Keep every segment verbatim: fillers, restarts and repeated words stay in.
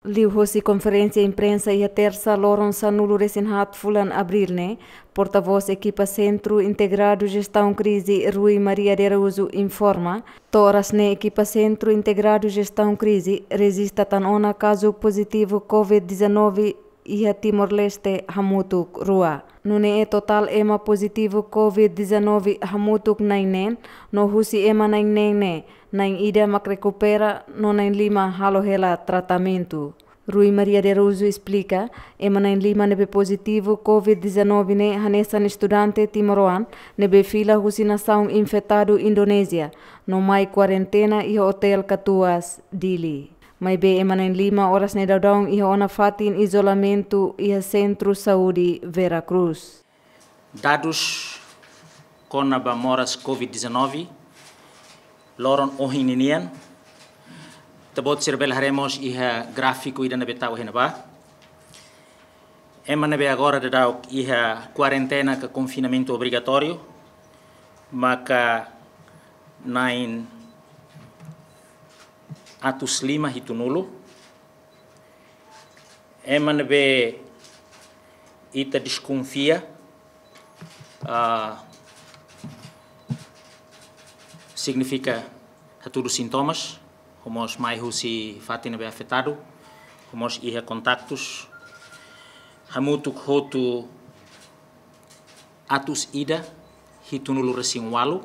Liuhosi konferénsia imprensa iha Tersa loron sanulu resin haat fulan Abríl ne'e, portavós ekipa Sentru Integradu Jestaun Krize Rui Maria de Araújo informa, to'o oras ne'e ekipa Sentru Integradu Jestaun Krize rejista tan ona kazu pozitivu COVID dezanove iha Timor-Leste hamutuk rua. Nune'e totál ema pozitivu COVID dezanove hamutuk na'in neen, no husi ema na'in neen ne'e, na'in ida mak rekupera no na'in lima halo hela tratamentu. Rui Maria de Araújo esplika, ema na'in lima ne'ebé pozitivu COVID dezanove ne'e hanesan estudante timoroan ne'ebé fila husi nasaun infetadu Indonézia, no mai kuarentena iha Otél Katuas, Dili. Maibé ema na'in lima oras ne'e daudaun iha ona fatin izolamentu iha Sentru Saúde Vera Cruz. Dadus kona-ba moras COVID dezanove, loron ohin ninian, ita-boot sira bele haree mós iha gráfiku ida ne'ebé tau iha ne'ebá. Ema ne'ebé agora daudaun iha kuarentena ka konfinamentu obrigatóriu, maka na'in atus lima hitunulu. Ema ne'ebé ita deskonfia, ah, signifika hatudu sintomas, ho mós mai husi fatin ne'ebé afetadu, ho mós iha kontaktus. Hamutuk hotu atus ida hitunulu resin ualu,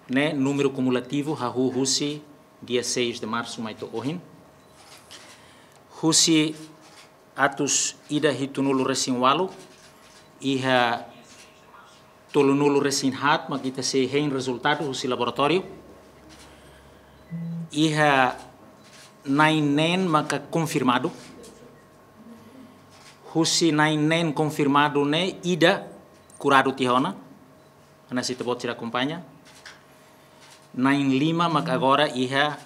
ne'e númeru kumulativu hahú husi dia seis de março mai to'o ohin. Husi atus ida hitunulu resin ualu, iha tolunulu resin haat mak ita sei hein rezultadu husi laboratóriu. Iha na'in neen maka konfirmadu. Husi na'in neen konfirmadu ne'e ida kuradu tiha ona. Hanesan ita-boot sira akompaña. Na'in lima mak agora iha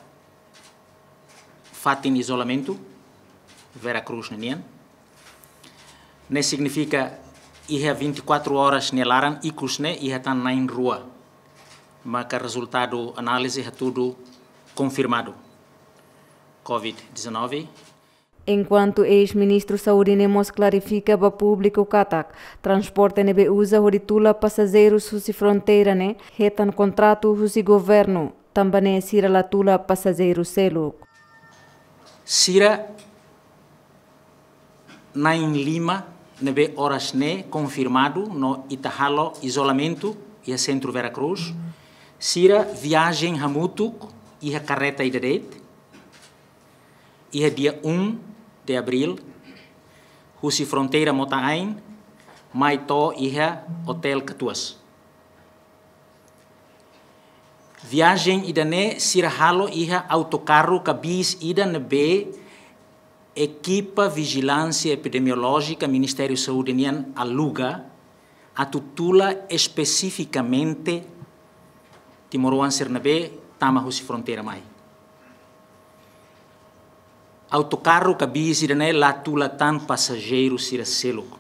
fatin izolamentu Vera Cruz ninian. Ne'e signifika iha vinte e quatro horas nia laran ikus ne'e iha tan na'in rua maka rezultadu análize hatudu konfirmadu COVID dezanove. Enkuantu eis-ministru Saúde ne'e mós klarifika ba públiku katak, transporte ne'ebé uza hodi tula pasajeirus husi fronteira ne'e, hetan kontratu husi governu, tanba ne'e sira la tula pasajeiru seluk. Sira na'in lima ne'ebé oras ne'e konfirmadu no ita halo izolamentu iha Sentru Vera Cruz, sira viajen hamutuk iha karreta ida de'it, iha dia um de abril, husi fronteira Mota Ain, mai to'o iha Otél Katuas. Viajen ida-ne'e sira halo iha autokarru ka bis ida ne'ebé ekipa vijilánsia epidemiolójika Ministériu Saúde nian aluga atu tula espesifikamente timoroan sira ne'ebé tama husi fronteira mai. Autokarru ka bis ida-ne'e la tula tan pasajeiru sira seluk.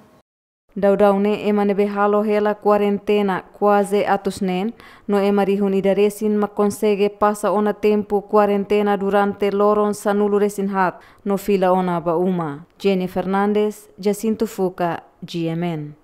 Daudaun ne'e ema ne'ebé halo hela kuarentena kuaze atus neen, no ema rihun ida resin mak konsege pasa ona tempu kuarentena durante loron sanulu resin haat, no fila ona ba uma. Jenny Fernandes, Jacinto Fuca, G M N.